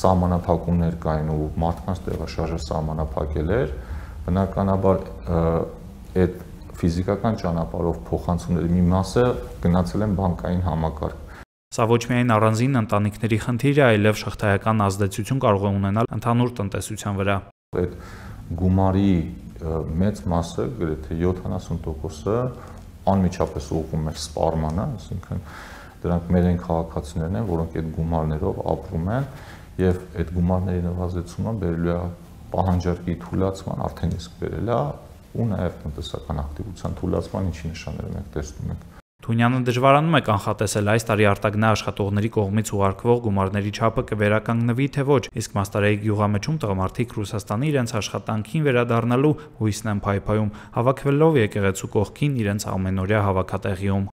սահմանափակումներ կային ու մարդկանց տեղաշարժը սահմանափակել էր, բնականաբար այդ ֆիզիկական ճանապարհով փոխանցումների մի մասը գնացել են բանկային համակարգ։ Սա ոչ միայն առանձին ընտանիքների խնդիր է, այլև շղթայական ազդեցություն կարող է ունենալ ընդհանուր տնտեսության վրա։ Այդ գումարի մեծ մասը, գրեթե 70%-ը անմիջապես ուղղում է սպառմանը, այսինքն դրանք մեր այն քաղաքացիներն են, որոնք այդ գումարներով ապրում են, եւ այդ գումարների նվազեցումը բերելու է պահանջարկի թուլացման, արդեն իսկ բերել է, ու նաեւ տնտեսական ակտիվության թուլացման, ինչի նշանները մենք տեսնում ենք։ Թունյանը դժվարանում է կանխատեսել այս տարի արտագնա աշխատողների կողմից ուղարկվող գումարների չափը կվերականգնվի թե ոչ, իսկ Մաստարայի գյուղամեջում տղամարդիկ Ռուսաստանի իրենց աշխատանքին վերադառնալու հույսն են փայփայում, հավաքվելով եկեղեցու կողքին իրենց ամենօրյա հավաքատեղիում։